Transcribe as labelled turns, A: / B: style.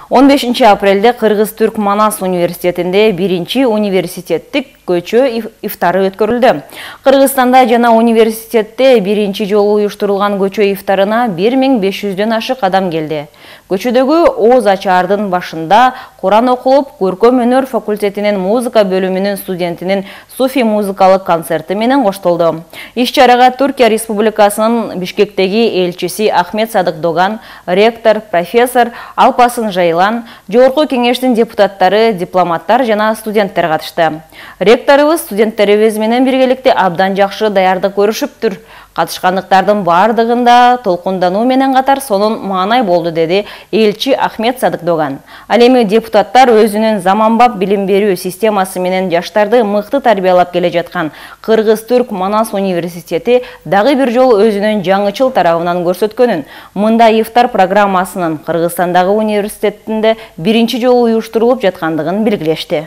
A: 15 апрелде Кыргыз-Түрк Манас университетинде 1-чи университеттик көчө ифтары өткөрүлдү. Кыргызстанда жана университетте 1-чи жолу уюштурулган көчө ифтарына 1500дөн ашык адам келди. Көчөдөгү Оз ачаардын башында Куран окулуп, көркөм өнөр факультетинин музыка бөлүмүнүн студентинин суфи музыкалык концерти менен коштолду. Иш-чарага Түркия Республикасынын Бишкектеги элчиси Ахмет Садык Доган, ректор, профессор Алпасын Жайлан, Жогорку кеңештин депутаттары, дипломаттар жана студенттер катышты. Ректорубуз студенттерибиз менен биргеликте абдан жакшы даярдык көрүшүптүр. Катышкандыктардын бардыгында толкундануу менен катар сонун маанай болду, деди элчи Ахмет Садык Доган. Ал эми депутаттар өзүнүн заманбап билим берүү системасы менен жаштарды мыкты тарбиялап келе жаткан Кыргыз-Түрк Манас университети дагы бир жолу өзүнүн жаңычыл тарабынан көрсөткөнүн, мындай ифтар программасынын Кыргызстандагы университетинде 1-чи жолу уюштурулуп жаткандыгын белгилешти.